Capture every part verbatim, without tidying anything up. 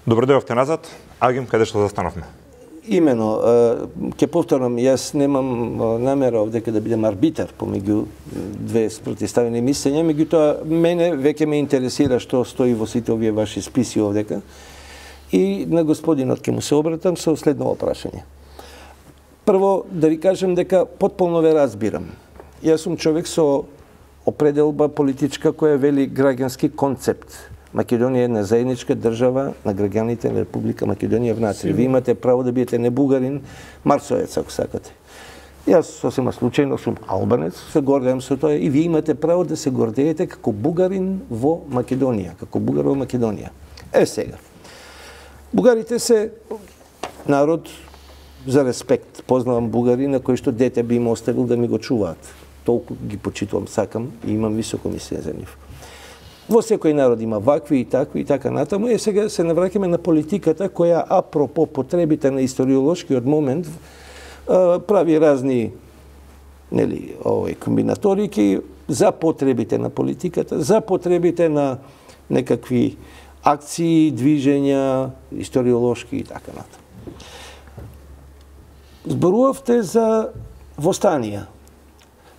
Добро дојдовте назад. Агим, каде што застановме? Имено, ќе повторам, јас немам намера овдека да бидем арбитар помеѓу две спротивставени мислења, меѓутоа мене веќе ме интересира што стои во сите овие ваши списи овдека. И на господинот ќе му се обратам со следно прашање. Прво, да ви кажам дека потполно ве разбирам. Јас сум човек со определба политичка која вели граѓански концепт. Македонија е една заедничка држава на граѓаните на Република Македонија внатре. Ви имате право да бидете не бугарин, марсоец, ако сакате. Јас сосема случајно сум албанец, се гордеам со тоа и ви имате право да се гордеете како бугарин во Македонија, како бугар во Македонија. Е сега. Бугарите се народ за респект. Познавам бугари на кои што дете би им оставил да ми го чуваат. Толку ги почитувам, сакам и имам високо мислење за нив. Во секој народ има вакви и такви и така натаму. И сега се навраќаме на политиката која апропо потребите на историолошкиот момент прави разни нели овој комбинаторики за потребите на политиката, за потребите на некакви акции, движења, историолошки и така натаму. Зборувавте за востанија.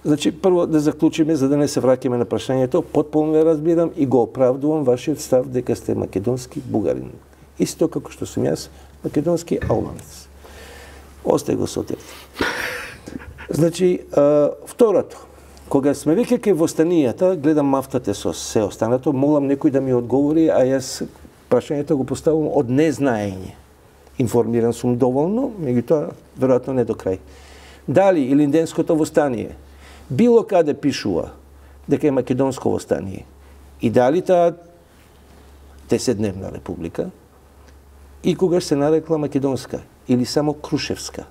Значи, прво да заклучиме, за да не се враќаме на прашањето, потполно ве разбирам и го оправдувам вашиот став дека сте македонски бугарин. Исто како што сум јас македонски албанец. Остај го Сотир. Значи, а, второто, кога сме веќе кај востанијата, гледам мафтате со се останато, молам некој да ми одговори, а јас прашањето го поставувам од незнаење. Информиран сум доволно, меѓутоа веројатно не до крај. Дали Илинденското востание било каде пишува дека е македонско востание и дали таа десетдневна република и когаш се нарекла македонска или само крушевска.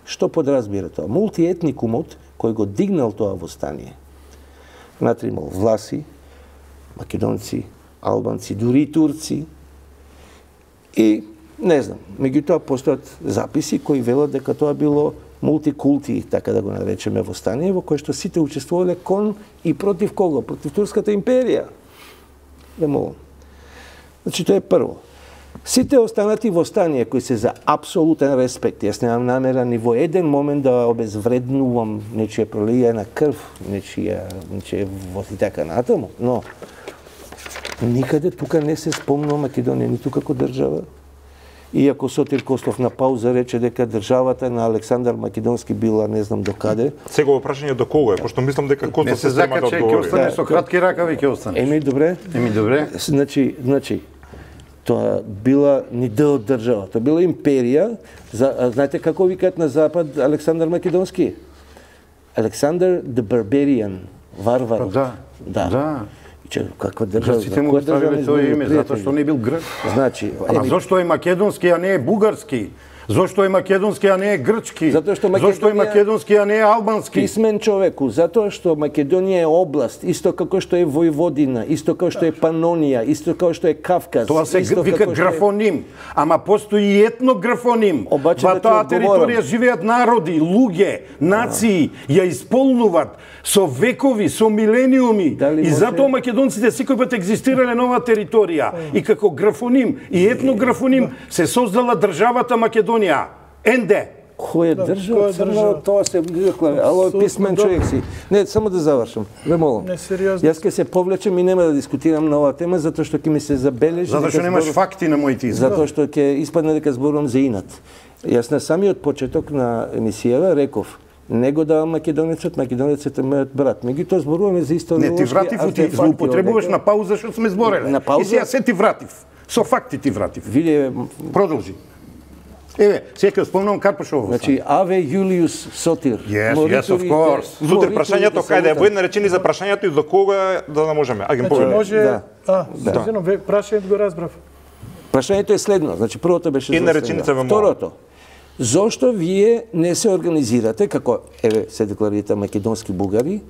Што подразбира тоа? Мултиетникумот кој го дигнал тоа востание. Внатре имал власи, македонци, албанци, дури и турци и не знам, меѓутоа постојат записи кои велат дека тоа било мултикулти, така да го наречеме, востание, во кое што сите учествувале кон и против кого? Против Турската империја. Ве молам. Значи, тоа е прво. Сите останати востанија кои се за апсолутен респект, јас немам намера ни во еден момент да обезвреднувам нечија пролија на крв, нечија, нечија воз и така натаму, но никаде тука не се спомнува Македонија ниту како држава. Иако Сотир Костов на пауза рече дека државата на Александар Македонски била не знам до каде. Сега прашање до кого е, пошто мислам дека Костов се зема да одговори. Ќе остане со кратки ракави, ќе остане. Еми добре. Еми добре. Значи, значи тоа била ни дел од држава, тоа била империја. За, знаете како викаат на запад Александар Македонски? Александар the Barbarian, варвар. Да. Да. Да. Че каква држава? Грците му ставиле тоа име затоа што не бил грк. Значи, ама зошто е македонски, а не е бугарски? Зошто е македонски, а не е грчки? Затоа што Македонија... Зошто е македонски, а не е албански? Писмен човеку, затоа што Македонија е област, исто како што е Војводина, исто како што е Панонија, исто како што е Кавказ. Тоа се вика графоним, е... ама постои и етнографоним. Обаче, Во таа територија живеат народи, луѓе, нации, ја исполнуваат со векови, со милениуми. Дали и може... затоа македонците секој пат екзистирале на оваа територија. И како графоним и етнографоним се создала државата Македонија. Енде. Која е држава? Црна, тоа се декларира. Ало, писмен човек си. Не, само да завршам. Ве молам. Несериозно. Јас ќе се повлечам и нема да дискутирам на оваа тема, затоа што ќе ми се забележи... Затоа што немаш факти на моите изјави. Затоа што ќе испадне дека зборувам за инат. Јас на самиот почеток на емисијава реков, него давам македонецот, македонецот е мојот брат. Меѓутоа зборуваме за историолошки артефакти. Не, ти вратив, ти злоупотребуваш на пауза што сме збореле. На пауза? И сега се ти вратив. Со факти ти вратив. Виде... Продолжи. Еве, сега спомнам Карпашово. Значи, Аве Јулиус Сотир. Yes, yes, of course. Сутер, прашањето каде е? Во една речени за прашањето и до кога да не можеме. Агим значи, може... Да. А, да. Прашањето го разбрав. Прашањето е следно. Значи, првото беше... Една реченица ве молам. Второто. Зошто вие не се организирате, како еве се декларирате македонски бугари,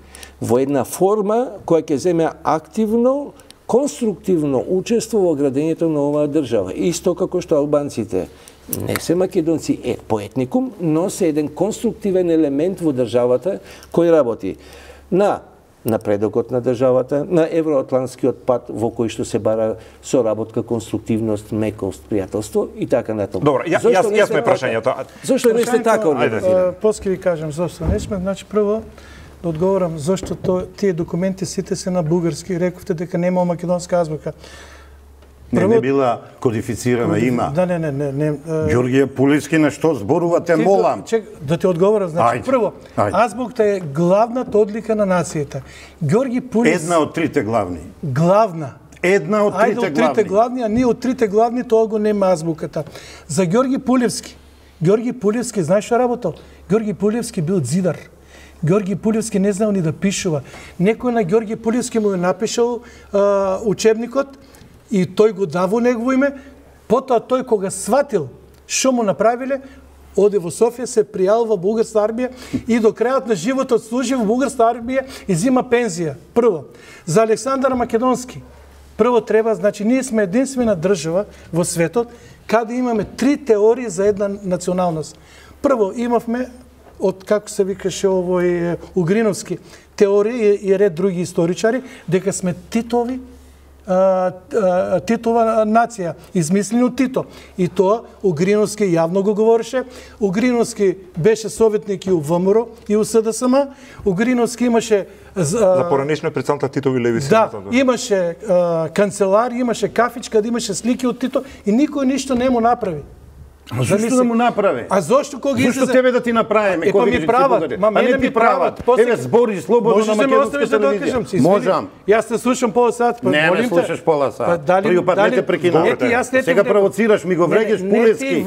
во една форма која ќе земе активно, конструктивно учество во градењето на оваа држава. Исто како што албанците не се македонци е по етникум, но се еден конструктивен елемент во државата кој работи на напредокот на државата, на евроатлантскиот пат во кој што се бара соработка, конструктивност, мекост, пријателство и така натаму. Добро, ја, јас, јасно е прашањето. Зошто не сте така организирани? После ви кажам зошто не сме. Значи прво да одговорам зошто то, тие документи сите се на бугарски. Рековте дека нема македонска азбука. Не, не била кодифицирана, има. Да, не, не, не. не Ѓорѓе Пулевски, на што зборувате, молам? Чек, да ти одговорам, значи, Ајде, прво, ајде. азбукта е главната одлика на нацијата. Ѓорѓи Пулевски... Една од трите главни. Главна. Една од Ајде трите од трите главни. главни, а ние од трите главни тоа го нема азбуката. За Ѓорѓи Пулевски. Ѓорѓи Пулевски, знаеш што работел? Ѓорѓи Пулевски бил зидар. Ѓорѓи Пулевски не знаел ни да пишува. Некој на Ѓорѓи Пулевски му е напишал а, учебникот и тој го даво негово име. Потоа тој кога сватил што му направиле, оде во Софија, се пријавил во бугарска армија и до крајот на животот служи во бугарска армија и зима пензија. Прво, за Александар Македонски. Прво треба, значи, ние сме единствена држава во светот каде имаме три теории за една националност. Прво, имавме, од како се викаше овој Угриновски, теорија и ред други историчари, дека сме Титови, а, а, Титова нација, измислени од Тито. И тоа Угриновски јавно го говореше. Угриновски беше советник и у ВМРО и у СДСМ. Угриновски имаше За поранешно председател Титови левици. Да, имаше а, канцелар, имаше кафичка, да имаше слики од Тито и никој ништо не му направи. А зашто да му направи? А зошто кога излезе? Зашто тебе да ти направиме? Е, па ми прават, ма мене ми прават. Еве збори слободно на македонска телевизија. Можам. Јас те слушам пола сат, па не, молим те. Не, слушаш пола сат. Па дали Први пат не те прекинав. Сега провоцираш, ми го врегеш Пулевски.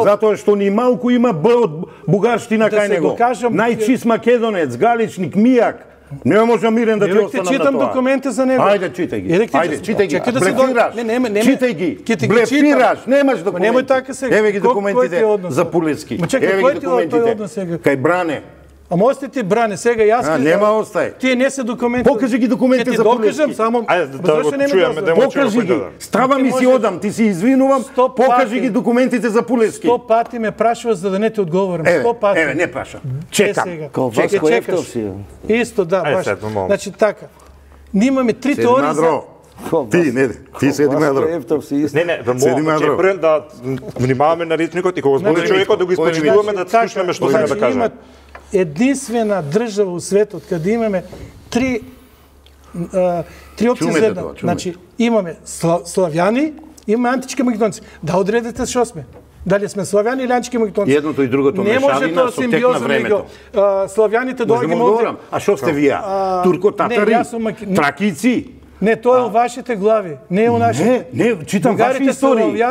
Затоа што ни малку има Б од бугарштина кај него. Најчист македонец, галичник, мијак. Не можам мирен да ти останам на тоа. Читам документи за него. Ајде, читај ги. Ајде, читај ги. Блефираш. Не, не, не. Читај ги. Блефираш. Немаш документи. Немој така сега. Еве ги документите за Пулевски. Еве ги документите. Кај Бране. Ама ости ти Бране, сега јас... А, нема остај. Тие не се документи. Покажи ги документите за Пулевски. Ќе ти докажам, само... Ајде, да го чуеме, да го покажи ги. Става ми си одам, ти си извинувам, покажи ги документите за Пулевски. Сто пати ме прашува за да не ти одговорам. Еве, Сто пати. еве, не прашам. Чекам. Као Васко Ефтов си. Исто, да, баш. Значи така. Ние имаме три теории за... Ти, не, ти седи мадро. Не, не, ве молам, да внимаваме на речникот и кога збори човекот да го испочитуваме, да слушнеме што има да каже. Единствена држава у светот каде имаме три а, три опции за една. Значи имаме славјани, имаме антички македонци. Да одредите што сме. Дали сме славјани или антички македонци? Едното и другото мешавина со тек на времето. Славјаните доаѓаме овде. А што сте вие? Турко-татари? Тракици? Не, тоа е у вашите глави, не е у нашите. Не, не, читам ваши истории.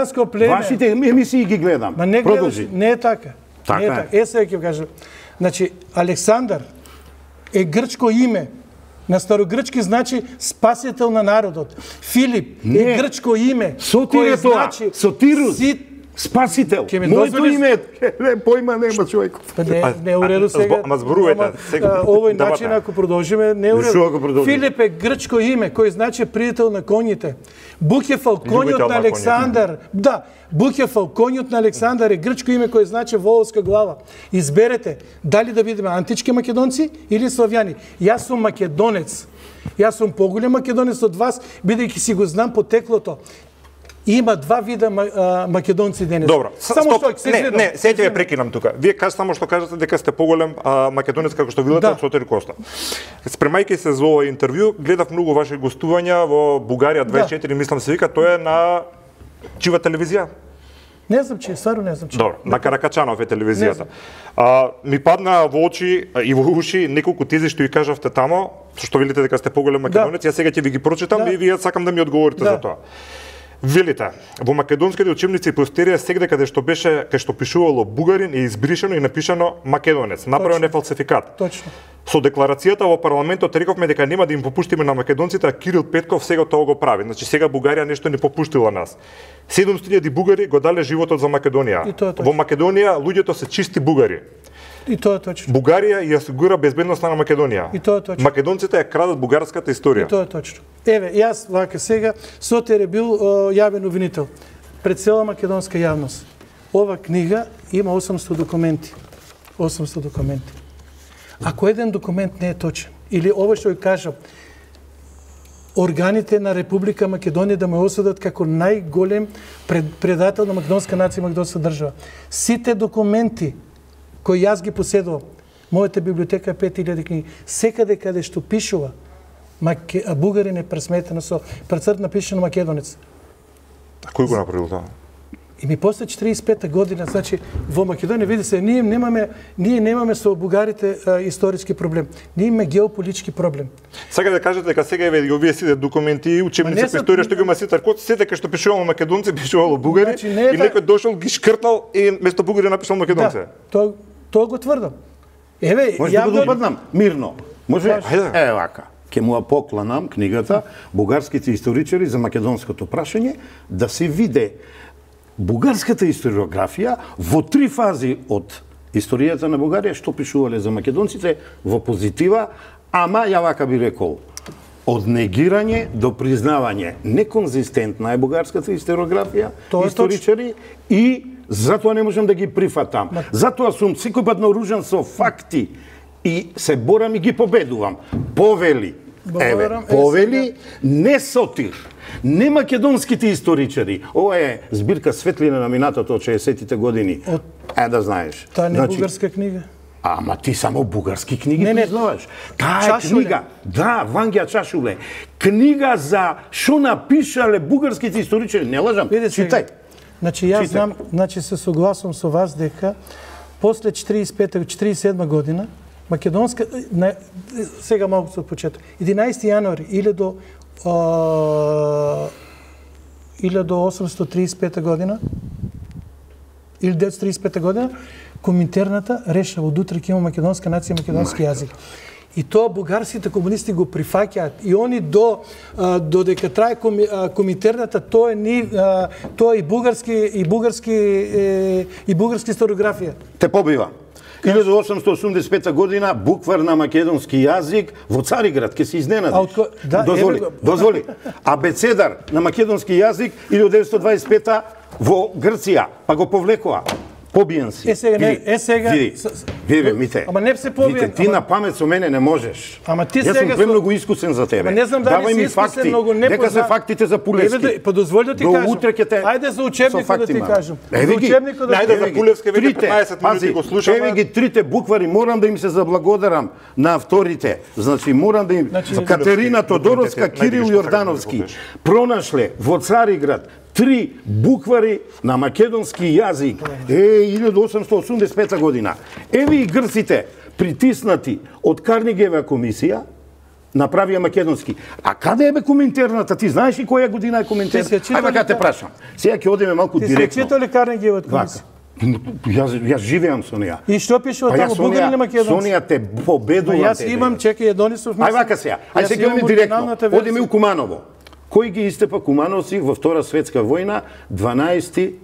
Вашите емисии ги гледам. Ма не гледаш, не е така. Така не е така. Е, сега ќе кажам. Значи, Александар е грчко име. На старогрчки значи спасител на народот. Филип не. Е грчко име. Сотир е тоа. Значи, Сотирус. Си... Спасител. Моето име е појма нема човек. Па не, не е уредо сега. Ама зборувате сега. Овој начин ако продолжиме не е уредо. Филип е грчко име кој значи пријател на коњите. Букефал коњот на Александар. Да, Букефал коњот на Александар е грчко име кој значи воловска глава. Изберете дали да бидеме антички македонци или славјани. Јас сум македонец. Јас сум поголем македонец од вас, бидејќи си го знам потеклото. Има два вида македонци денес. Добро, само стоп. што не, не, сега ќе ве прекинам тука. Вие кажете само што кажете дека сте поголем а, македонец како што видите од Сотир Коста. Спремајќи се за ова интервју, гледав многу ваши гостувања во Бугарија дваесет и четири, да. Мислам се вика, тоа е на чива телевизија? Не знам че, стварно не знам че. Добро, на Каракачанов е телевизијата. А, ми падна во очи и во уши неколку тези што ја кажавте тамо, што велите дека сте поголем македонец, да. Јас сега ќе ви ги прочитам да. И вие сакам да ми одговорите да. За тоа. Велите, во македонските учебници по историја сегде каде што беше, кај што пишувало бугарин е избришено и напишано македонец. Направен е фалсификат. Точно. Со декларацијата во парламентот рековме дека нема да им попуштиме на македонците, а Кирил Петков сега тоа го прави. Значи сега Бугарија нешто не попуштила нас. седумстотини илјади бугари го дале животот за Македонија. Во Македонија луѓето се чисти бугари. И тоа е точно. Бугарија ја осигура безбедноста на Македонија. И тоа е точно. Македонците ја крадат бугарската историја. И тоа е точно. Еве, јас вака сега Сотир е бил о, јавен обвинител пред цела македонска јавност. Ова книга има осумстотини документи. осумстотини документи. Ако еден документ не е точен или ово што ја кажа, органите на Република Македонија да ме осудат како најголем пред, предател на македонска нација и македонска држава. Сите документи кои јас ги поседувам, мојата библиотека е пет илјади книги, секаде каде што пишува Маке... бугарин е пресметено со прецрт напишано македонец. А кој го направил тоа? И ми после четиридесет и пета година, значи во Македонија види се, ние немаме ние немаме со бугарите а, историски проблем. Ние имаме геополитички проблем. Сега да кажете дека сега еве овие сите документи и учебници по историја што ги има Ситар Коц, сите кај што пишувало македонци, пишувало бугари, значи, и некој дошол ги шкртнал и место бугари напишал македонци. Да, тоа тоа го тврдам. Еве, може ја да го допаднам мирно. Може? Е вака. Ке му покланам книгата Бугарските историчари за македонското прашање да се виде бугарската историографија во три фази од историјата на Бугарија што пишувале за македонците во позитива, ама ја вака би рекол од негирање до признавање неконзистентна е бугарската историографија, историчари и затоа не можам да ги прифатам. Затоа сум секој пат наоружен со факти и се борам и ги победувам. Повели, еве, повели, не сотир, не македонските историчари. Ова е збирка Светлина на минатото од шеесеттите години. Е, да знаеш. Таа не е бугарска книга? Ама ти само бугарски книги признаваш. Таа е книга, да, Вангија Чашуле. Книга за што напишале бугарските историчари. Не лажам, читај. Значи, јас знам, значи се согласувам со вас дека после четиридесет и пета четиридесет и седма година македонска на, сега малку се почеток. единаесети јануари илјада осумстотин триесет и пета година или деветстотин триесет и пета година Коминтерната решава од утре ќе има македонска нација и македонски јазик. И тоа бугарските комунисти го прифаќаат. И они до додека трае Коминтерната, тоа е ни тоа и бугарски и бугарски и бугарски историографија. Те побива. илјада осумстотин осумдесет и пета година буквар на македонски јазик во Цариград, ке се изненадиш. Да, дозволи, го... дозволи. Абецедар на македонски јазик илјада деветстотин дваесет и пета во Грција, па го повлекоа. Побиен си. Е сега, не, е сега... Види, види, Мите. Ама не се побиен. Мите, ти ама... на памет со мене не можеш. Ама ти Јас сега... сум премногу искусен за тебе. Ама не знам дали си искусен, многу не Нека се фактите за Пулевски. Еве, па дозволи да ти До кажам. утре ќе те... Ајде за учебникот да ти кажам. Еве за учебникот да Ајде за Пулевски веќе петнаесет минути го слушаме. Еве ги трите буквари, морам да им се заблагодарам на авторите. Значи морам да им значи, Катерина Тодоровска, Кирил Јордановски пронашле во Цариград три буквари на македонски јазик. Е, илјада осумстотин осумдесет и пета година. Еве и грците притиснати од Карнегиева комисија направија македонски. А каде е бе Коминтерната? Ти знаеш ли која година е Коминтерната? Ајде вака те прашам. Сега ќе одиме малку директно. Ти се читал ли Карнегиева комисија? Јас јас живеам со неа. И што пише од таму бугари или македонци? Со неа те победувам. Јас имам, чекај, Едонисов. Ај вака сега. Ај сега ќе одиме директно. Одиме у Куманово. Кој ги истепа Кумановци во Втора светска војна дванаесети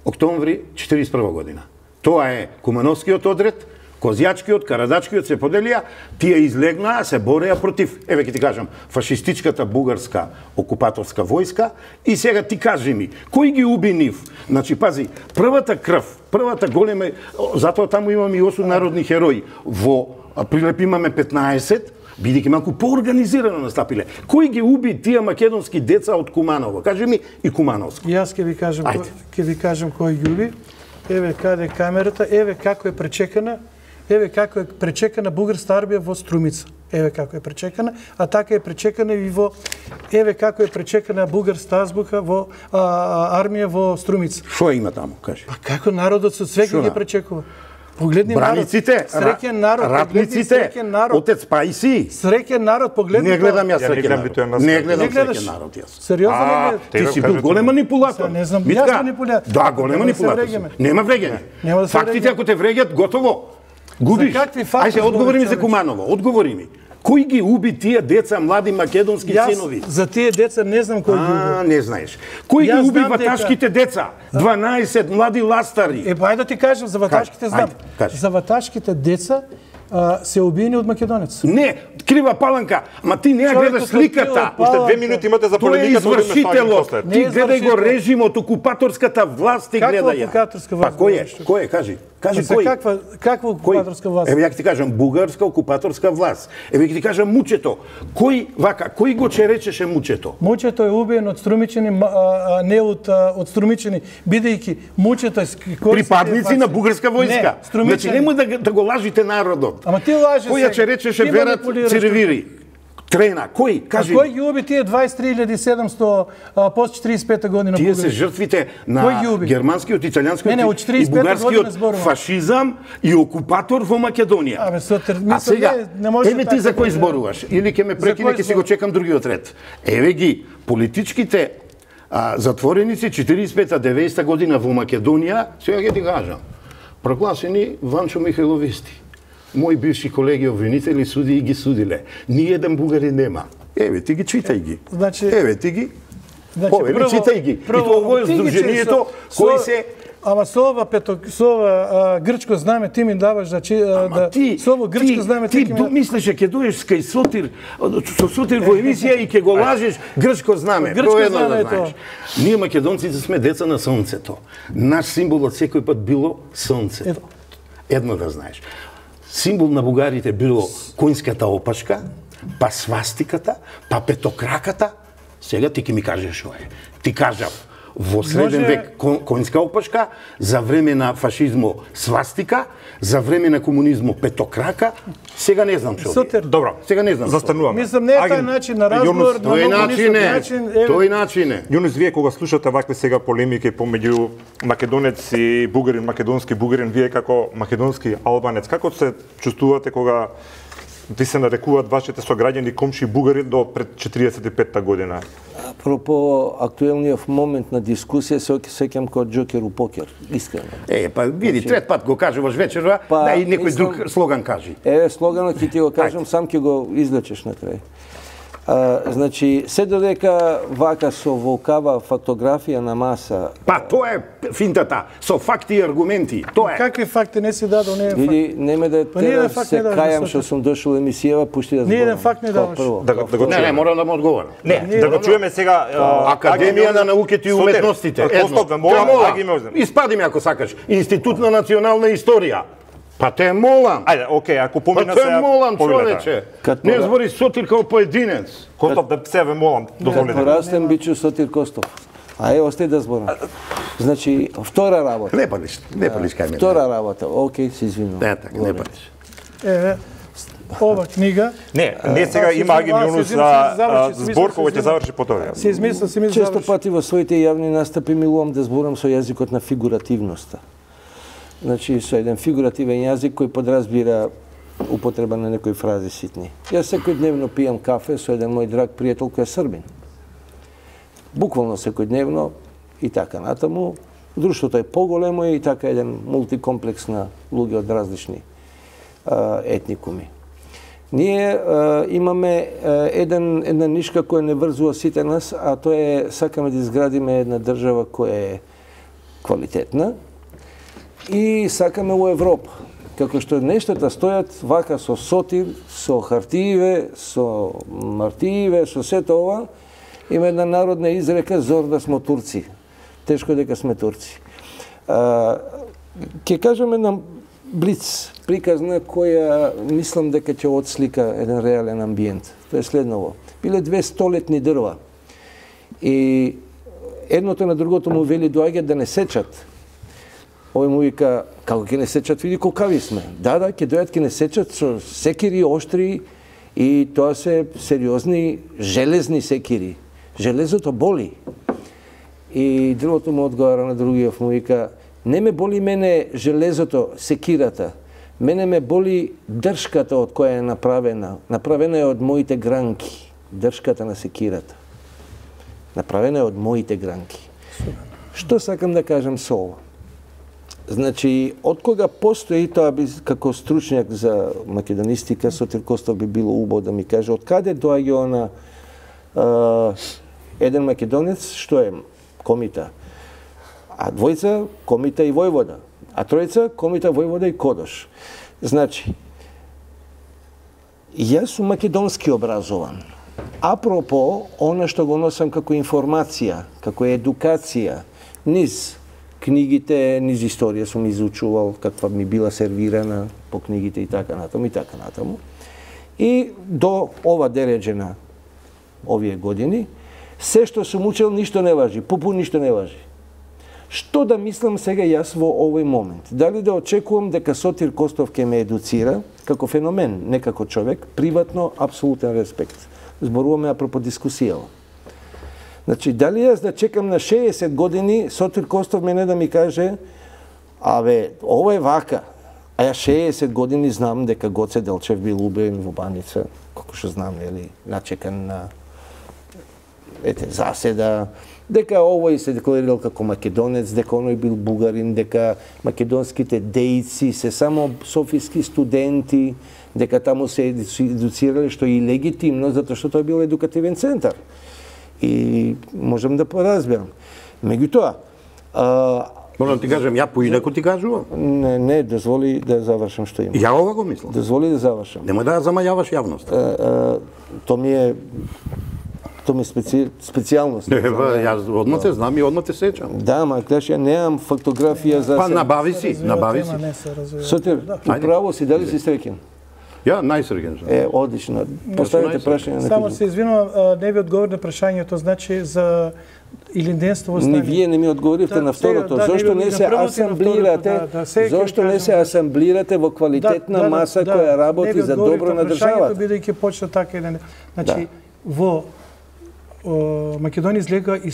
октомври четиридесет и прва година? Тоа е Кумановскиот одред, Козјачкиот, Карадачкиот се поделија, тие излегнаа, се бореа против, еве ќе ти кажам, фашистичката бугарска окупаторска војска и сега ти кажи ми, кој ги уби нив? Значи, пази, првата крв, првата голема, затоа таму имаме и осум народни херои, во Прилеп имаме петнаесет, бидејќи малку поорганизирано настапиле. Кој ги уби тие македонски деца од Куманово? Кажи ми и Кумановско. Јас ќе ви кажам, ќе ви кажам кој ги уби. Еве каде е камерата, еве како е пречекана, еве како е пречекана бугарска армија во Струмица. Еве како е пречекана, а така е пречекана и во еве како е пречекана бугарска азбука во а, армија во Струмица. Што има таму, кажи? Па како народот со свеќе ги пречекува? Погледни Браниците, народ, среќен народ, ратниците, народ, отец Пајси. Среќен народ, погледни. Не гледам јас среќен народ. Не гледам среќен народ јас. Сериозно не гледаш? Ти си бил голем манипулатор. Не знам, јас манипулатор. Да, голем манипулатор. Нема вреѓање. Фактите ако те вреѓат, готово. Губиш. Ајде, одговори ми за Куманово, одговори ми. Кој ги уби тие деца, млади македонски Јас, синови? За тие деца не знам кој ги уби. А, не знаеш. Кој ги уби ваташките дека... деца? дванаесет млади ластари. Е, па ајде да ти кажам, за ваташките знам. За ваташките деца а, се убиени од македонец. Не, крива паланка, ма ти не ја гледаш сликата. Уште две минути имате за полемиката. Тоа е извршителот. Ти гледај го режимот, окупаторската власт ти гледај ја. Каква окупаторска власт? Па кој е? Кој е, кажи? Кажи кој? Каква каква окупаторска власт? Еве ја ти кажам бугарска окупаторска власт. Еве ти кажам мучето. Кој вака, кој го черечеше мучето? Мучето е убиен од струмичени, а, не од од струмичени, бидејќи мучето е припадници на бугарска војска. Не, значи немој да да го лажите народот. Ама ти лажеш. Кој ја черечеше Верат Циревири? Трена, кој? Кажи. А кој ги уби тие дваесет и три илјади и седумсто после четиридесет и пета година? Тие се жртвите на германскиот, италијанскиот и бугарскиот фашизам и окупатор во Македонија. Абе, сотер, а сега, не, не еве ти за кој зборуваш? Или ќе ме прекине, ќе си го чекам другиот ред. Еве ги, политичките а, затвореници четиридесет и пета деветдесета година во Македонија, сега ќе ти кажам, прогласени Ванчо Михајловисти. Мои бивши колеги обвинители суди и ги судиле. Ни еден бугарин нема. Еве ти ги читај ги. Значи, еве ти ги. Значи, Еве читај ги. Прво, и тоа е здруженијето кој се Ама со ова пето со ова а, грчко знаме ти ми даваш да чи, да ти, со ова грчко ти, знаме ти, ти ти мислеше ќе доеш кај Сотир со Сотир во емисија и ќе го лажеш грчко знаме. Грчко едно знаме да знаеш. Ние македонците сме деца на сонцето. Наш символ од секој пат било сонцето. Едно да знаеш. Символ на бугарите било коњската опашка, па свастиката, па петокраката. Сега ти ќе ми кажеш што е. Ти кажав, во среден Може... век коњска опашка, за време на фашизмо свастика, за време на комунизмо петокрака, сега не знам што е. Добро, сега не знам. Застануваме. Мислам, не е тај начин на разговор, на тој начин е. Тој начин е. Јунус, вие кога слушате вакви сега полемики помеѓу македонец и бугарин, македонски бугарин, вие како македонски албанец, како се чувствувате кога ви се нарекуваат вашите сограѓани комши бугари до пред четиридесет и петта година? Апропо актуелниот момент на дискусија, се сеќам како џокер у покер, искрено. Е, па види, трет пат го кажуваш вечерва, па, да и некој мислам, друг слоган кажи. Е, слоганот ќе ти го кажам, сам ќе го излечеш на крај. А, значи, се додека вака со волкава фактографија на маса... Па, тоа е финтата, со факти и аргументи, тоа е. Какви факти не си дадо, не е факт. Види, нема да па, те се кајам што сум дошол емисијава, пушти да зборам. Не еден факт не даваш. Да, да го не, не, морам да му одговорам. Не, не да го чуеме сега... Академија на науките и уметностите. Едно, те молам, испади ме ако сакаш. Институт на национална историја. Па те молам. Ајде, окей, ако помина се... Па те молам, човече. Не збори Сотир као поединец. Костов, да се ве молам, дозволите. Кад порастем, бичу Сотир Костов. Ајде, остај да зборам. Значи, втора работа. Не палиш, не палиш кај мене. Втора работа, окей, се извинувам. Не, така, не палиш. Еве, ова книга... Не, не сега има Агим Јунус збор кој ќе заврши по тоа. Се измислам, се ми заврши. Често пати во своите јавни настапи милувам да зборам со јазикот на фигуративноста. Значи, со еден фигуративен јазик кој подразбира употреба на некои фрази ситни. Јас секојдневно пијам кафе со еден мој драг пријател кој е србин. Буквално секојдневно и така натаму. Друштвото е поголемо и така еден мултикомплекс на луѓе од различни а, етникуми. Ние а, имаме а, еден, една нишка која не врзува сите нас, а тоа е сакаме да изградиме една држава која е квалитетна, и сакаме во Европа. Како што нештата стојат вака со Сотир, со хартииве, со мартииве, со сето ова, има една народна изрека зор да смо турци. Тешко дека сме турци. А, ке кажеме на блиц приказна која мислам дека ќе отслика еден реален амбиент. Тоа е следново. Биле две столетни дрва и едното на другото му вели доаѓа да не сечат. Овој му вика, како ќе не сечат, види колкави сме. Да, да, ќе дојат, ќе не сечат со секири, оштри, и тоа се сериозни, железни секири. Железото боли. И дрвото му одговара на другиот, му вика, не ме боли мене железото, секирата, мене ме боли дршката од која е направена. Направена е од моите гранки, дршката на секирата. Направена е од моите гранки. Што сакам да кажам со ова? Значи, од кога постои, тоа би како стручњак за македонистика, Сотир Костов би било убаво да ми каже, од каде доаѓа она а, еден македонец, што е Комита, а двојца Комита и Војвода, а тројца Комита, Војвода и Кодош. Значи, јас сум македонски образован. Апропо, она што го носам како информација, како едукација, низ книгите, низ историја сум изучувал каква ми била сервирана по книгите и така натаму и така натаму. И до ова дереđена овие години, се што сум учел ништо не важи, пупу ништо не важи. Што да мислам сега јас во овој момент? Дали да очекувам дека Сотир Костов ќе ме едуцира како феномен, не како човек, приватно апсолутен респект. Зборуваме апропо дискусијава. Значи, дали јас да чекам на шеесет години Сотир Костов мене да ми каже абе, ово е вака, а ја шеесет години знам дека Гоце Делчев бил убиен во Баница, како што знам, ели, начекан на ете, заседа, дека овој се декларирал како македонец, дека оној бил бугарин, дека македонските дејци се само софиски студенти, дека таму се едуцирале, што е и легитимно, затоа што тој бил едукативен центар. И можам да поразберам. Меѓутоа, можам ти кажам, ја поинаку ти кажувам? Не, не, дозволи да завршам што имам. Ја ова го мислам. Дозволи да завршам. Немој да замајаваш јавноста. То ми е То ми е специ... специјалност. Не, ба, јас одма те знам и одма те сеќам. Да, ма клеш, ја немам фотографија за... Па набави си, набави си. Сотир, управо си, дали си среќен? Ја, најсреќен сум. Е, одлично. Поставите прашање на Само се извинувам, не ви одговор на прашањето, значи за илинденство во стане. Не, вие не ми одговоривте на второто. Зошто не се асамблирате? Зошто не се асамблирате во квалитетна маса која работи за добро на државата? Бидејќи почна така или не. Значи, во Македонија излега и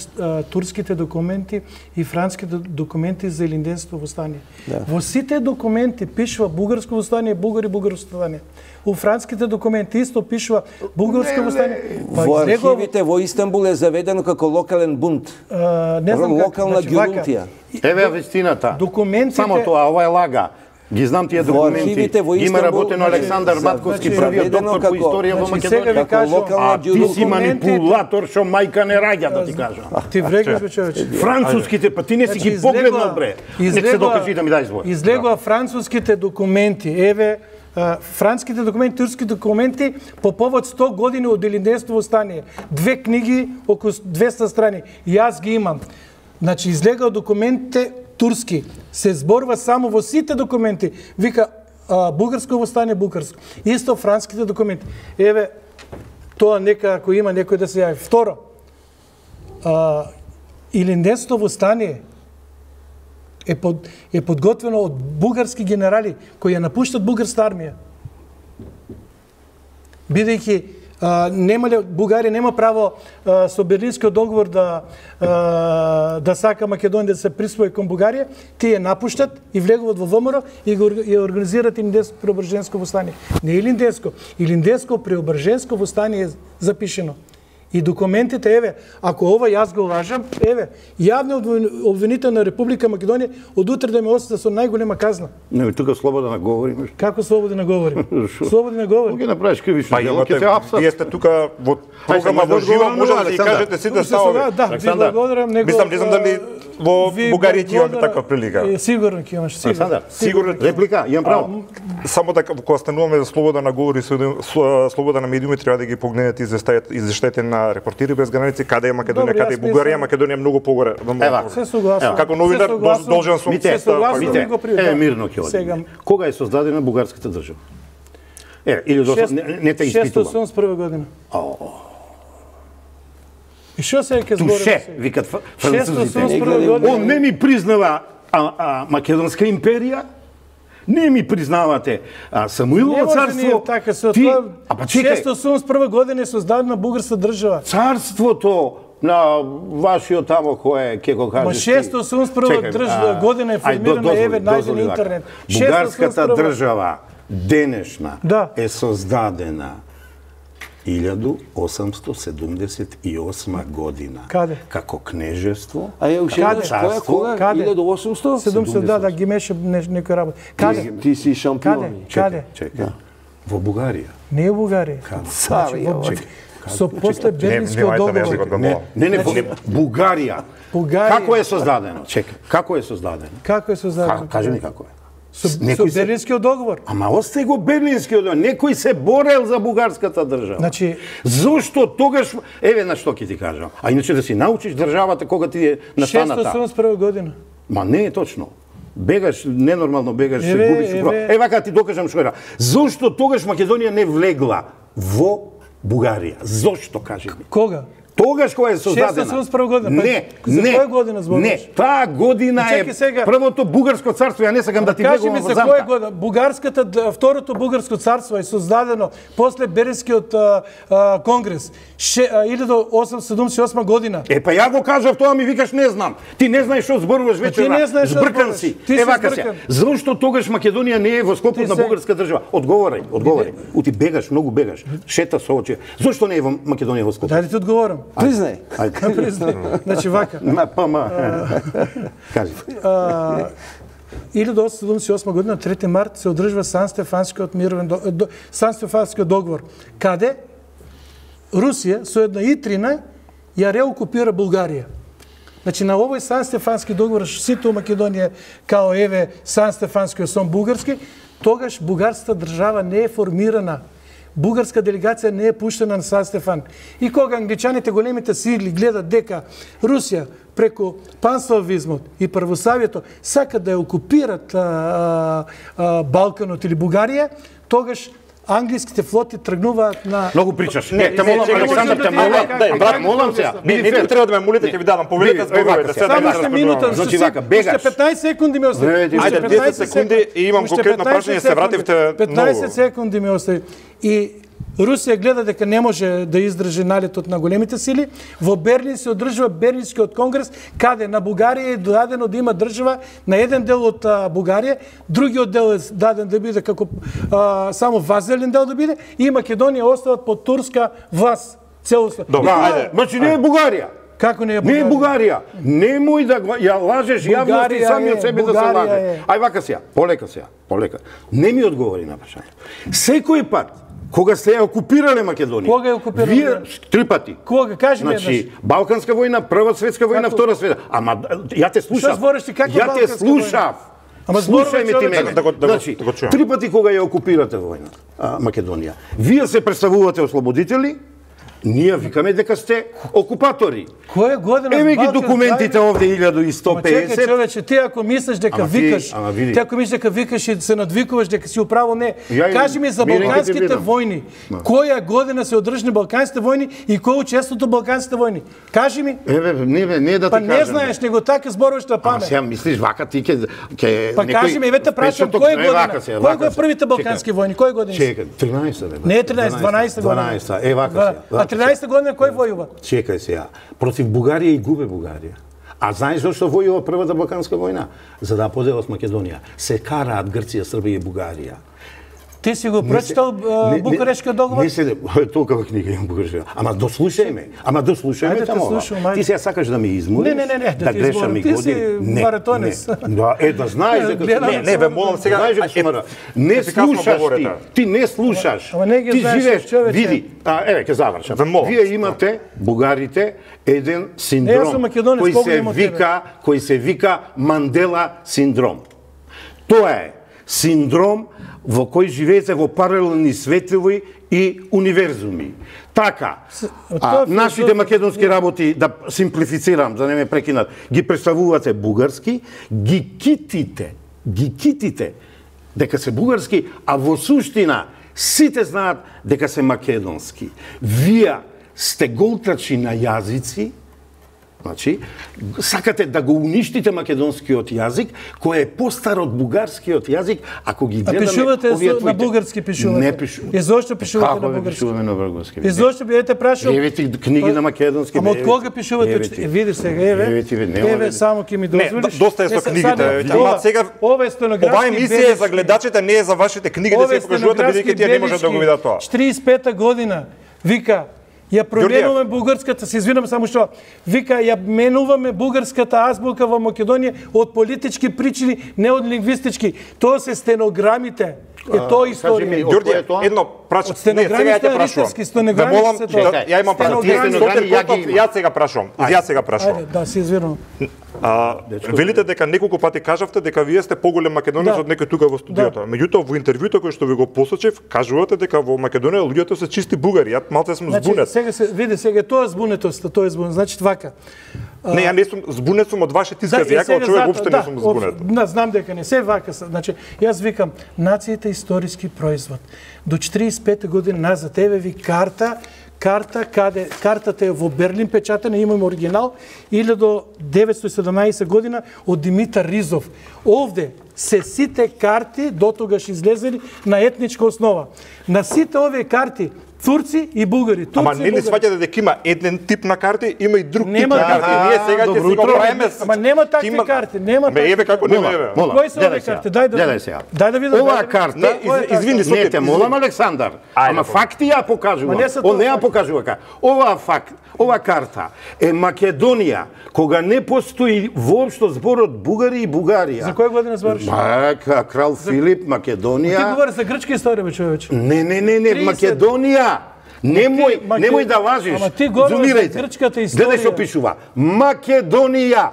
турските документи и франските документи за илинденство во стане. Да. Во сите документи пишува бугарско востание, бугари бугарско востание. У франските документи исто пишува бугарско востание. Па во архивите во Истанбул е заведено како локален бунт. А, не знам локална гјунтија. Еве вистината. Документите... Само тоа, ова е лага. Ги знам тие документи. Има работено Александар Матковски, првиот доктор по историја во Македонија. А ти си манипулатор што мајка не раѓа, да ти кажам. Ти врегаш, бе, човече. Француските, па ти не си ги погледнал, бре. Нека се докажи да ми дај збор. Излегува француските документи. Еве, франските документи, турски документи по повод сто години од илинденство во стание. Две книги, околу двеста страни. Јас ги имам. Значи, излега документите турски. Се зборува само во сите документи. Вика, а, бугарско востание, бугарско. Исто франските документи. Еве, тоа нека, ако има некој да се јави. Второ, а, илинденство востание е, под, е подготвено од бугарски генерали кои ја напуштат бугарска армија. Бидејќи Uh, немале, Бугарија нема право uh, со Берлинскиот договор да, uh, да сака Македонија да се присвои кон Бугарија, тие напуштат и влегуваат во ВМРО и го и организираат Илинденско преображенско востание. Не Илинденско, Илинденско преображенско востание е запишено. И документите, еве, ако ова јас го лажам, еве, јавни обвинител на Република Македонија од утре да ме осуди со најголема казна. Не, тука слободно говорим. Како слободно говорим? Слободно говорим. Ќе направиш кривично па, дело, ќе те апсат. Вие сте тука во програма во живо, може да ги кажете сите ставови. Да, ви благодарам, него. Мислам, не знам дали во Бугарија ќе имаме таква прилика. Сигурно ќе имаш, сигурно. Сигурно реплика, имам право. Само така кога стануваме за слобода на говор и слобода на медиуми, треба да ги погледнете извештаите на Репортери без граници, каде е Македонија, каде е Бугарија, Македонија е многу погоре. Се согласувам. Како новинар должен сум се согласувам. Е мирно ќе одиме. Кога е создадена бугарската држава? Е, или до не те испитувам. шестоосем и прва година. И што се ќе збори? Туше, викат французите. Он не ми признава а, а, Македонска империја, не ми признавате а, Самуилово царство. Така, со ти, тоа, а па чекај. шестоосем и прва година е создадена бугарска држава. Царството на вашиот тамо кој ќе го кажеш. Ма шестоосем и прва држава година е формирана, еве најден интернет. Бугарската држава денешна да. е создадена илјада осамсто седумдесет и осма година. Каде? Како кнежество. А ја уште која кога? Каде? илјада осумсто седумдесет да, да ги меше некој работа. Каде? Ти си шампион. Каде? Чекај. Во Бугарија. Не е Бугарија. Каде? Со после Берлинскиот договор. Не, не, не, Бугарија. Како е создадено? Чекај. Како е создадено? Како е создадено? Кажи ми како е. Со, со Берлинскиот договор. Ама осте го Берлинскиот договор. Некој се борел за бугарската држава. Значи, зошто тогаш, еве на што ќе ти кажам. А иначе да си научиш државата кога ти е настаната. шестоосем и прва година. Ма не е точно. Бегаш, ненормално бегаш, се губиш. Е, вака ти докажам што era. Зошто тогаш Македонија не влегла во Бугарија? Зошто, кажи ми? Кога? Тогаш кога е создадена. шестоста седумдесет и прва година. Не, за не. која година зборуваш? Не, таа година е првото бугарско царство. Ја не сакам да ти влегувам во замка. Кажи ми за која година? Бугарската, второто бугарско царство е создадено после Беренскиот конгрес. илјада осумстотини седумдесет и осма година. Е, па ја го кажав тоа, ми викаш не знам. Ти не знаеш што зборуваш вечера. Збркан си. Е, вака се. Зошто тогаш Македонија не е во склопот на бугарска држава? Одговорај, одговорај. Ути бегаш, многу бегаш. Шета со очи. Зошто не е во Македонија во склопот? Дај да ти одговорам. Признај. Признај. Значи вака. Ма, па, ма. Кажи. илјада осумстотини седумдесет и осма година, трети март, се одржува Сан-Стефанскиот мировен Сан-Стефанскиот договор, каде Русија со една итрина ја реокупира Бугарија. Значи на овој Сан-Стефански договор сите у Македонија као еве Сан-Стефанскиот сом бугарски, тогаш бугарската држава не е формирана. Бугарска делегација не е пуштена на Сан Стефан. И кога англичаните, големите сили, гледат дека Русија преку панславизмот и православието сакат да ја окупират а, а, Балканот или Бугарија, тогаш англиските флоти тргнуваат на... Многу причаш. Не, те молам, Александар, те молам. Брат, молам се. Не, не треба да ме молите, ќе ви дадам. Повелете зборовете. Само уште минута, значи вака, бегаш. Уште петнаесет секунди ми остави. Ајде, десет секунди и имам конкретно прашање, се вративте многу. петнаесет секунди ми остави. И Русија гледа дека не може да издржи налетот на големите сили. Во Берлин се одржува Берлинскиот конгрес, каде на Бугарија е дадено да има држава на еден дел од Бугарија, другиот дел е даден да биде како а, само вазелен дел да биде, и Македонија остават под турска власт целосно. Добро, ајде. Значи не е Бугарија. Како не е Бугарија? Не е Бугарија. Немој да го ја лажеш јавност и сами од себе да се лаже. Ај вака сега, полека сега, полека. Не ми одговори на прашањето. Секој пат кога сте ја окупирале Македонија. Кога ја окупирале? Вие три пати. Кога? Кажи ми еднаш. Значи, Балканска војна, Прва светска војна, како? Втора светска. Ама ја те слушав. Што збориш ти, како ја те слушав. Ама слушај ме ти мене. Да го, да значи, да го три пати кога ја окупирате војна, Македонија, вие се представувате ослободители, ние викаме дека сте окупатори. Која година? Еме ги документите овде илјада и сто педесет. Чекај, човече, ти ако мислиш дека ама викаш, ти, ти ако мислиш дека викаш и се надвикуваш дека си управо не. Ја, Кажи ми за балканските војни. Која година се одржани балканските војни и кој учеството балканските војни? Кажи ми. Еве, не, не да ти па кажам. Па не знаеш, него така зборуваш на памет. Ама сега мислиш вака ти ке ке Па кажи ми, еве те прашам, која година? Кој го е првите балкански војни? Кој година? Чекај, тринаесета бе. Не е тринаесета, дванаесета година. дванаесета, е вака сега. А тринаесета година кој војува? Чекај сега. Против Бугарија и губе Бугарија. А знаеш зашто војува првата балканска војна? За да поделат Македонија. Се караат Грција, Србија и Бугарија. Ти си го прочитал Букурешкиот договор? Не се, толкова книга имам Букурешкиот. Ама дослушај ме. Ама дослушај ме тамо. Ти сега сакаш да ме измориш? Не, не, не, да грешам и години. Ти си маратонец. Да, е да знаеш дека не, не, ве молам сега. Знаеш дека не слушаш ти. Ти не слушаш. Ти живееш, види. А еве ќе завршам. Вие имате бугарите еден синдром кој се вика, кој се вика Мандела синдром. Тоа е синдром во кој живеете во паралелни светови и универзуми. Така, а, нашите македонски работи, да симплифицирам, да не ме прекинат, ги представувате бугарски, ги китите, ги китите дека се бугарски, а во суштина сите знаат дека се македонски. Вие сте голтачи на јазици, значи, сакате да го уништите македонскиот јазик, кој е постар од бугарскиот јазик, ако ги гледаме... А пишувате на бугарски пишувате? Не пишувате. И зошто пишувате Како на бугарски? Како пишуваме на бугарски? И зошто би ете прашал... Еве ти книги на македонски. Ама од кога пишувате? Видиш сега, еве. Еве ти, еве само ќе ми дозволиш. Не, доста е со книгите. Ама сега ова е стенографски. Ова емисија е за гледачите, не е за вашите книги да се покажувате, бидејќи тие не можат да го видат тоа. четиридесет и пета година вика ја променуваме бугарската, се извинам само што, вика, ја менуваме бугарската азбука во Македонија од политички причини, не од лингвистички. Тоа се стенограмите. Е тоа историја. Ѓорѓе, едно прашање. Не, сега ја те прашувам. Да молам, ја имам прашање. Ја сега прашувам. Ја сега прашувам. Да, се извинувам. А, велите дека неколку пати кажавте дека вие сте поголем македонец од некој тука во студиото. Меѓутоа во интервјуто кој што ви го посочив, кажувате дека во Македонија луѓето се чисти бугари. Ја малце сум збунет. Сега се види сега тоа збунетост, тоа е збунет. Значи вака. Не, ја не сум збунет сум од вашите искази, ја како човек уопште не сум збунет. Да, знам дека не се вака. Значи, јас викам, нацијата е историски производ. До четиридесет и пета година назад, еве ви карта, карта каде картата е во Берлин печатена, имаме оригинал, илјада деветстотини и седумнаесета година од Димитар Ризов. Овде се сите карти дотогаш излезени на етничка основа. На сите овие карти турци и бугари. Турци Ама не ли сваќате дека има еден тип на карти, има и друг нема тип на карти. А, Ние сега ќе си го правиме. Ама нема такви има... карти, нема такви. Ме еве како нема еве. Кои се овие карти? Дај да. Гледај сега. Дај да видам. Оваа карта, не, из, извини, не те молам Александар. Ама факти ја покажува. Он не ја покажува ка. Оваа факт, ова карта е Македонија, кога не постои воопшто зборот бугари и Бугарија. За која година збориш? Ма, крал Филип, Македонија. Ти говориш за грчка историја, бе, човече. Не, не, не, не, Македонија. Немој, Маке... немој да лажиш. Ама ти говориш за грчката историја. Гледај што пишува. Македонија.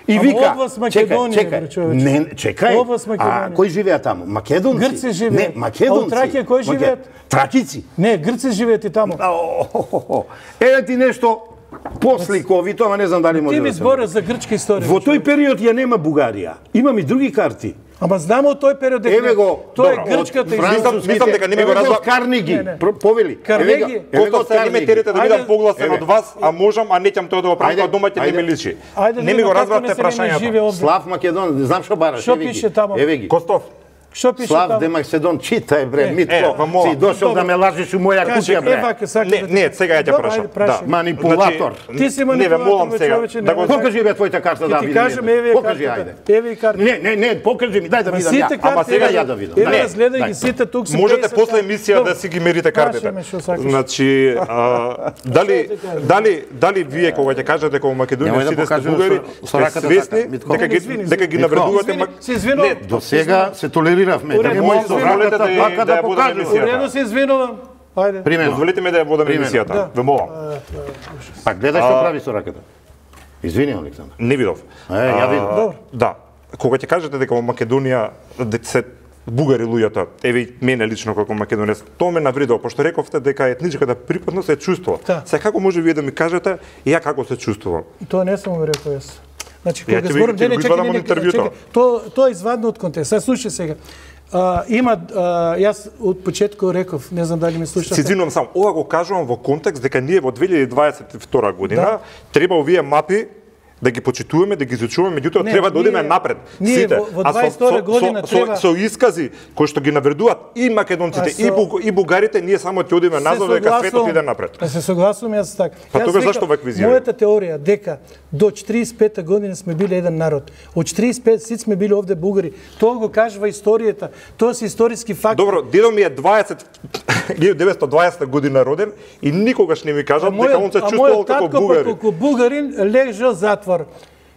И Ама вика, област Македонија, чекај, чекај. Не, чекај. Област Македонија. А кои живеат таму? Македонци? Грци живеат. Не, македонци. А у Тракија кои живеат? Тракици. Не, грци живеат и таму. Еве ти нешто посликовито, ама не знам дали може да се. Ти ми збориш за грчка историја. Во тој период ја нема Бугарија. Имам и други карти. Ама знамо од тој период дека еве го, тоа е грчката историја. Мислам дека не ми го разбрав Карниги. Повели. Карнеги. Кото сега ме терите да бидам погласен од вас, а можам, а неќам тоа да го правам, дома ќе не ми личи. Не ми го разбравте прашањето. Слав Македон, знам што бараш. Што пише таму? Еве ги. Костов. Што пише Слав таму? де Македон, читај бре, Митко. Си дошол да ме лажеш у моја куќа бре. Не, не, сега ја ќе прашам. Да, манипулатор. Ти си манипулатор. Не ве молам сега. Да го покажи бе твојата карта да видам. Ти кажам еве покажи ајде. Еве карта. Не, не, не, покажи ми, дај да видам ја. Ама сега ја да видам. Еве разгледај ги сите тук се. Можете после емисија да си ги мерите картите. Значи, дали дали дали вие кога ќе кажете дека во Македонија сите сте бугари, сте свесни дека ги дека ги навредувате? Не, до сега се толериравме. Дозволете да ја да водам емисијата. Уредно се извинувам. Ајде. Примерно. Дозволете ми да ја водам емисијата. Ве молам. Па гледај што прави со раката. Извини, Александар. Не видов. Е, ја видов. Да. Кога ќе кажете дека во Македонија се бугари луѓето, еве мене лично како македонец, тоа ме навредува, пошто рековте дека етничката припадност е чувство. Се како може вие да ми кажете и ја како се чувствувам? Тоа не сум го рекол јас. Значи кога зборам, не, не, чекај, не, чекај. Тоа тоа е извадно од контекст. Сега слушај сега. А, има, а, јас од почетку реков, не знам дали ме слушате. Се извинувам само, ова го кажувам во контекст дека ние во две илјади дваесет и втора година да. Треба овие мапи да ги почитуваме, да ги изучуваме, меѓутоа треба да одиме напред. Ние сите. Во, во дваесет и втора година со, треба со, со искази кои што ги навредуваат и македонците со... и, бу, и бугарите, ние само ќе одиме назад дека светот иде напред. Да се согласувам јас така. Па тогаш зашто вакви изјави? Мојата теорија дека до четиридесет и пета година сме биле еден народ. Од четиридесет и пет сите сме биле овде бугари. Тоа го кажува историјата. Тоа се историски факт. Добро, дедо ми е дваесет илјада деветстотини и дваесета година роден и никогаш не ми кажа дека он се чувствувал како бугари. Како бугарин лежал затвор.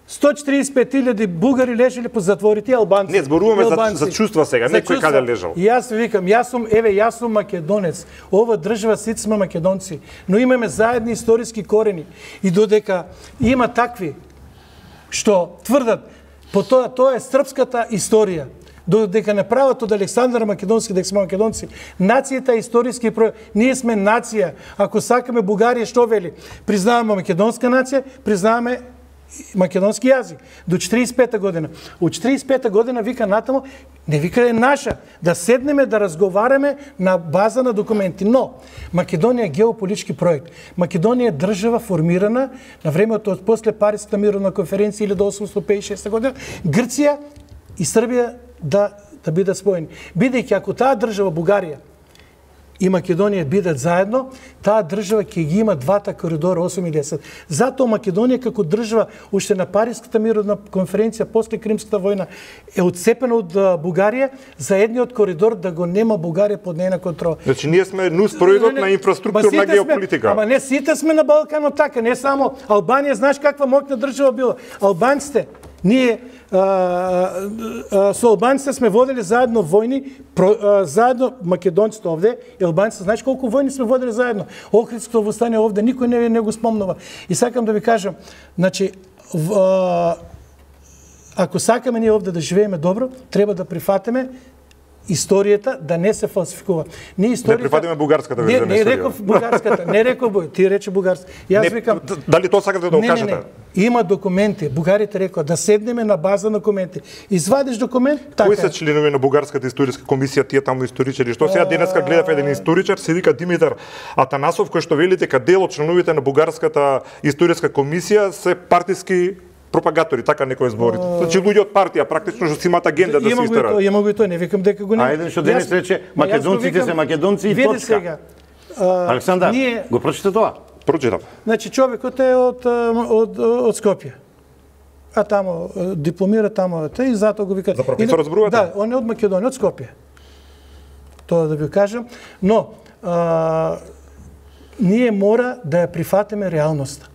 сто четиридесет и пет илјади бугари лежеле по затворите, албанци. Не, зборуваме за, за чувства сега, не кој каде лежал. Јас викам, јас сум, еве, јас сум македонец. Ова држава сите сме македонци, но имаме заедни историски корени. И додека има такви што тврдат по тоа, тоа е српската историја. Додека не прават од Александар Македонски, дека сме македонци. Нацијата е историски пројав. Ние сме нација. Ако сакаме Бугарија, што вели? Признаваме македонска нација, признаваме македонски јазик. До четиридесет и пета година. Од четиридесет и пета година вика натаму, не вика е наша, да седнеме да разговараме на база на документи. Но Македонија е геополитички проект. Македонија е држава формирана на времето од после Париската мировна конференција илјада осумстотини петдесет и шеста година, Грција и Србија да да бидат споени. Бидејќи ако таа држава Бугарија и Македонија бидат заедно, таа држава ќе ги има двата коридора осум и десет. Затоа Македонија како држава уште на Париската мировна конференција после Кримската војна е отцепена од Бугарија за едниот коридор да го нема Бугарија под нејна контрола. Значи ние сме нус проидот на инфраструктурна геополитика. Ама не сите сме на Балканот така, не само Албанија, знаеш каква моќна држава била. Албанците ние а, а, со албанците сме водели заедно војни, про, а, заедно македонците овде, и албанците, знаеш колку војни сме водели заедно? Охридското восстание овде никој не, не го спомнува. И сакам да ви кажам, значи, в, а, ако сакаме ние овде да живееме добро, треба да прифатиме историјата да не се фалсификува. Не историјата. Не прифатиме бугарската верзија. Не, не реков бугарската, не реков бој, ти рече бугарска. Јас викам, дали тоа сакате да го кажете? Не, не, не. Има документи. Бугарите рекоа да седнеме на база на документи. Извадиш документ, така. Кои се членови на бугарската историска комисија, тие таму историчари? Што сега денеска гледав еден историчар, се вика Димитар Атанасов, кој што вели дека дел од членовите на бугарската историска комисија се партиски пропагатори, така некој збори. Значи луѓе од партија практично што си имаат агенда да се истерат. Има го и тоа, не викам дека го нема. Ајде што денес рече македонците се македонци и точка. Сега, Александар, ние... го прочита тоа? Прочитав. Значи човекот е од од од Скопје. А тамо дипломира тамо, и затоа го вика. За професор зборувате? Да, он е од Македонија, од Скопје. Тоа да ви кажам, но а, ние мора да ја прифатиме реалноста.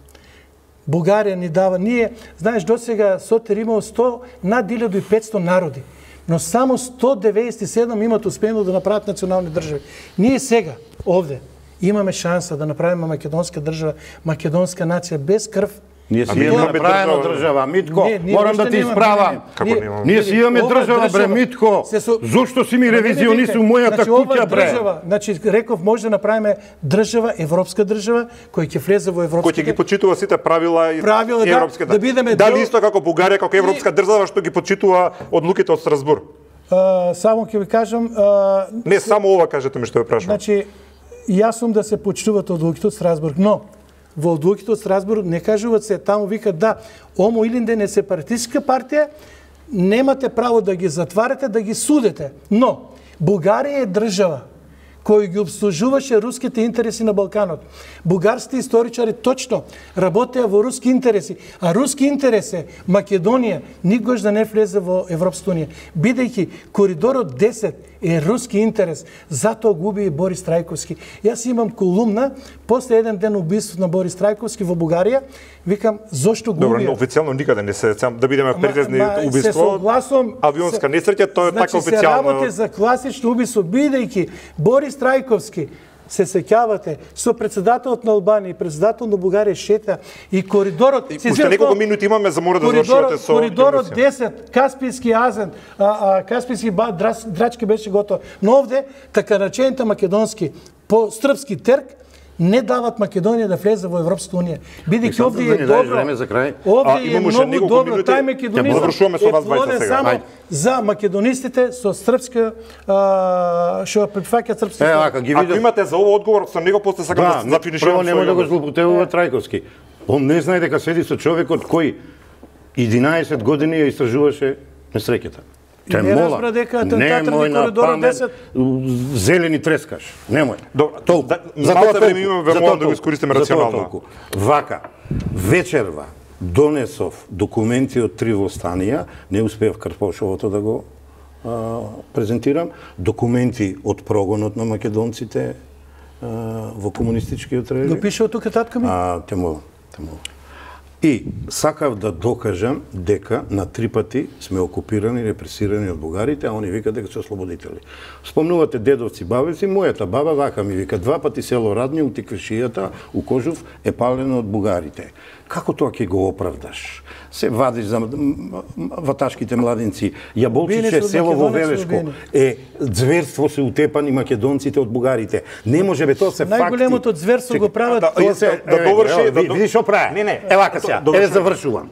Бугарија ни дава, ние, знаеш, до сега Сотир имал сто, над илјаду и петсто народи, но само сто деветдесет и седум имат успено да направат национални држави. Ние сега, овде, имаме шанса да направиме македонска држава, македонска нација без крв. Ние си имаме направена држава, Митко, не, не, морам да ти исправам. Ние, ние си имаме држава, бре, Митко. Со... Зошто си ми ревизионист у мојата значи, куќа, бре? Држава, значи, реков, може да направиме држава, европска држава, која ќе влезе во европските... Кој ќе ги почитува сите правила и, правила, и европските. Да, да бидеме Дали дел... исто како Бугарија, како европска држава, што ги почитува одлуките од Страсбур? Uh, само ќе ви кажам... Uh, Не, се... само ова кажете ми што ја прашувам. Значи, јас сум да се почитуваат одлуките од Страсбург, но во одлуките од Страсбург не кажуваат се, таму викат да, омо Илинден е сепаратистичка партија, немате право да ги затварате, да ги судете. Но, Бугарија е држава кој ги обслужуваше руските интереси на Балканот. Бугарските историчари точно работеа во руски интереси, а руски интерес е Македонија никогаш да не влезе во Европската унија. Бидејќи коридорот десет е руски интерес, затоа губи и Борис Трајковски. Јас имам колумна после еден ден убиството на Борис Трајковски во Бугарија, викам зошто губи. Добро, официјално никаде не се, да бидеме прецизни, убиство. Се согласувам, авионска несреќа, тоа е значи, така официјално. Се работи за класично убиство, бидејќи Борис Трајковски, се сеќавате, со председателот на Албанија и председател на Бугарија шета и коридорот... Уште неколку минути имаме за мора да завршувате со... Коридорот десет, Каспијски азен, а, а, Каспијски драж, драчки беше готов. Но овде, така речените македонски, по српски терк, не дават Македонија да влезе во Европската унија. Бидејќи овде е добро. Овде е многу добро. Тај македонизам е плоден само за македонистите со српска што прифаќаат српски. Е, ака ги видов. Ако имате за ово одговор, со него после сакам да зафиниширам. Прво нема да го злоупотребува Трајковски. Он не знае дека седи со човекот кој единаесет години ја истражуваше несреќата. Не разбра дека атентатот на коридорот десет зелени трескаш. Немој. Толку. За тоа време имаме веројатно да го искористиме рационално. Вака, вечерва донесов документи од три востанија, не успеав Карпошовото да го а, презентирам, документи од прогонот на македонците а, во комунистичкиот режим. Го пише од тука татка ми? А, темо, темо. И сакав да докажам дека на три пати сме окупирани, репресирани од бугарите, а они викат дека се ослободители. Спомнувате дедовци, бабици, мојата баба вака ми вика, два пати село Радни, у Тиквишијата, у Кожув е палено од бугарите. Како тоа ќе го оправдаш? Се вадиш за ваташките младинци. Јаболчиче, село во Велешко, е зверство се утепани македонците од бугарите. Не може бе, тоа се факти. Најголемото зверство го прават... Тоа се, да доврши... Видиш што прави? Не, не. Ева сега, еве завршувам.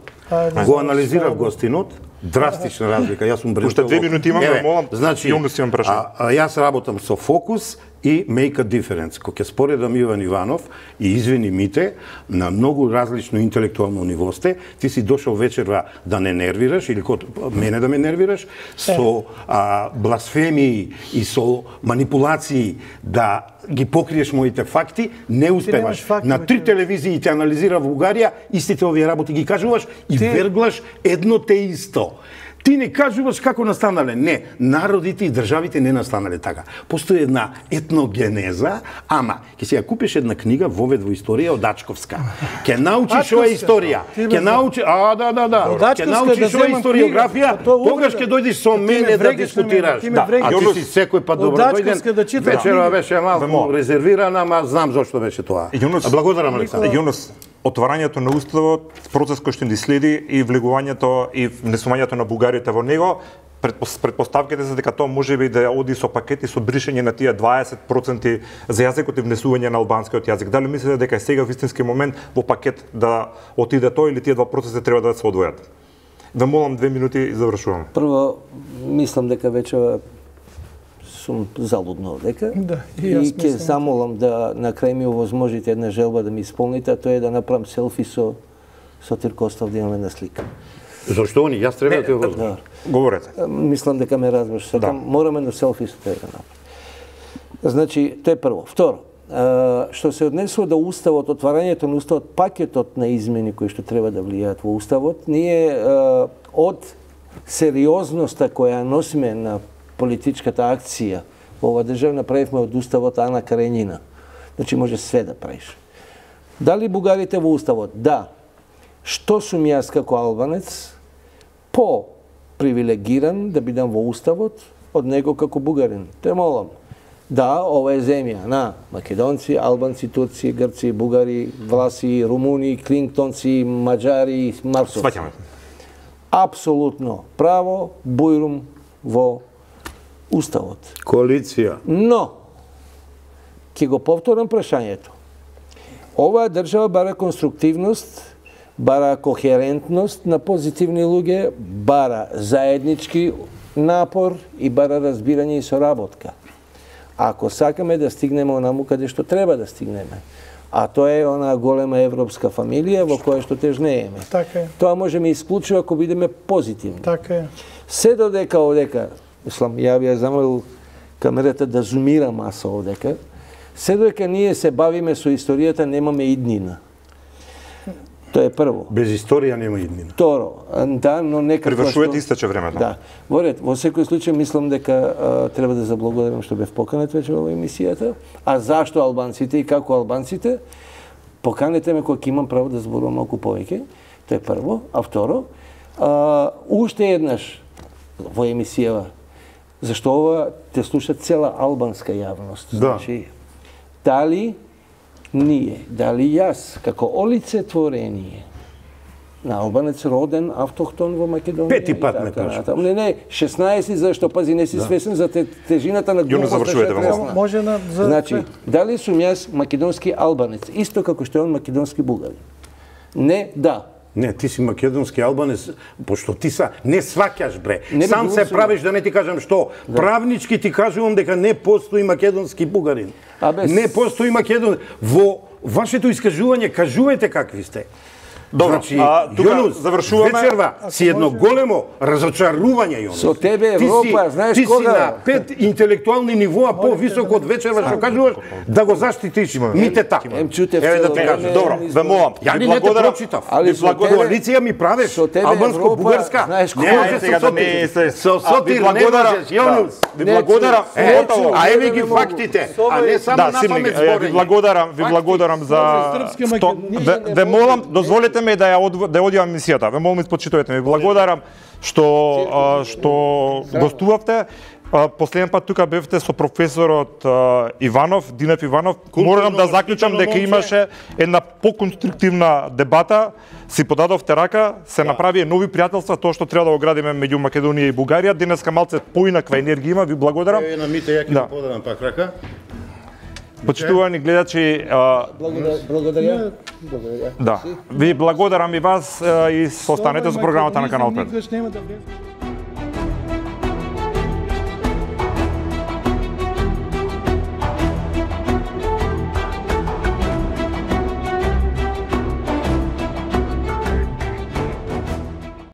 Го анализирав гостинот, драстична разлика. Јас сум Уште две минути имам, молам. Значи, јас работам со фокус и make a difference. Кога ќе споредам Иван Иванов и извини Мите, на многу различно интелектуално ниво сте, ти си дошол вечерва да не нервираш или код мене да ме нервираш со а, бласфемии и со манипулации да ги покриеш моите факти, не успеваш. Факти, на три телевизии те анализира во Бугарија, истите овие работи ги кажуваш и ти... верглаш едно те исто. Ти не кажуваш како настанале. Не, народите и државите не настанале така. Постои една етногенеза, ама ќе си ја купиш една книга Вовед во историја од Ачковска. Ќе научиш ова историја. Ќе научиш, а да да да. Ќе научиш ова историографија, тогаш ќе дојдеш со мене да дискутираш. А ти си секој пат добро дојден. Вечерва беше малку резервирана, ама знам зошто беше тоа. Благодарам, Александар. Јунус, отварањето на уставот, процес кој што ни следи и влегувањето и внесувањето на бугарите во него, предпоставките се дека тоа може би да оди со пакети со бришење на тие дваесет проценти за јазикот и внесување на албанскиот јазик. Дали мислите дека е сега вистински момент во пакет да отиде тоа или тие два процеси треба да се одвојат? Ве молам две минути и завршувам. Прво, мислам дека веќе сум залудно дека да, и, и ќе замолам да на крај ми овозможите една желба да ми исполните, а тоа е да направам селфи со со Тиркостов да имаме на слика. Зашто они? Јас треба да те возможам. Говорете. Мислам дека ме разбраш. Сакам, да. Мораме на селфи со тоа да направам. Значи, тоа е прво. Второ, што се однесува до уставот, отварањето на уставот, пакетот на измени кои што треба да влијаат во уставот, ние од сериозноста која носиме на политичката акција во оваа држава направивме од уставот Ана Каренина. Значи може све да правиш. Дали бугарите во уставот? Да. Што сум јас како албанец по привилегиран да бидам во уставот од него како бугарин? Те молам. Да, ова е земја на македонци, албанци, турци, грци, бугари, власи, румуни, клинтонци, маđари, марсовци. Сваќаме. Апсолутно право, бујрум во уставот. Коалиција. Но, ќе го повторам прашањето. Оваа држава бара конструктивност, бара кохерентност на позитивни луѓе, бара заеднички напор и бара разбирање и соработка. Ако сакаме да стигнеме онаму каде што треба да стигнеме, а тоа е онаа голема европска фамилија во која што тежнееме. Така е. Тоа може ми исклучува ако бидеме позитивни. Така е. Се додека овдека, мислам, ја би ја замолил камерата да зумира маса овдека, се додека ние се бавиме со историјата, немаме иднина. Тоа е прво. Без историја нема иднина. Второ, да, но нека Привршувате истече времето. Да. Во ред, во секој случај мислам дека а, треба да заблагодарам што бев поканет веќе во емисијата. А зашто албанците и како албанците? Поканете ме кога ќе имам право да зборувам малку повеќе. Тоа е прво. А второ, а, уште еднаш во емисијава, зашто ова те слуша цела албанска јавност. Да. Значи, дали ние, дали јас, како олицетворение на албанец роден, автохтон во Македонија. Пети пат ме прашаш. Не, не, шеснаесет, зашто пази не си да. Свесен за те, тежината на глупоста. завршувате во Може на за Значи, дали сум јас македонски албанец, исто како што е он македонски бугарин? Не, да. Не, ти си македонски албанец, пошто ти са не сваќаш бре. Не Сам се правиш да не ти кажам што. Да. Правнички ти кажувам дека не постои македонски бугарин. Абе, не постои македон. Во вашето искажување кажувате какви сте. Добро, значи, а, тука Јонус, завршуваме. Вечерва си едно големо разочарување, Јонус. Со тебе Европа, ти си, знаеш ти кога? Ти си на пет интелектуални нивоа по-високо од Вечерва, што кажуваш, да го заштитиш митета. Ем чутев Еве да цело ти кажам. време, Добро, ве молам. Ја ви ли не те благодарам. прочитав? Али Ви со благо- тебе- Коалиција ми правиш, со тебе албанско-бугарска. Знаеш Не кога? може сега со да ми се Со Сотир не благодарам. можеш, Јонус. Ви Не благодарам. чу- Е, Готово. а еве не ги могу. фактите, а не само Да, на Симник, памет е, ви зборење. благодарам, ви благодарам за српски сто... Македонија Ве, не ве можеме молам, да дозволете ми да ја од, да ја одјавам емисијата. Ве молам, испочитувате ми. Благодарам што а, што гостувавте. А, Последен пат тука бевте со професорот а, Иванов, Динев Иванов. Морам да заклучам дека имаше една поконструктивна дебата. Си подадовте рака, се направи нови пријателства, тоа што треба да го градиме меѓу Македонија и Бугарија. Денеска малце поинаква енергија има, ви благодарам. Еве на мите ја ќе Да. да. подадам пак рака. Почитувани гледачи, а, Благодаря. Благодаря. да, ви благодарам и вас а, и останете со програмата на Канал пет. Никогаш нема да влезе.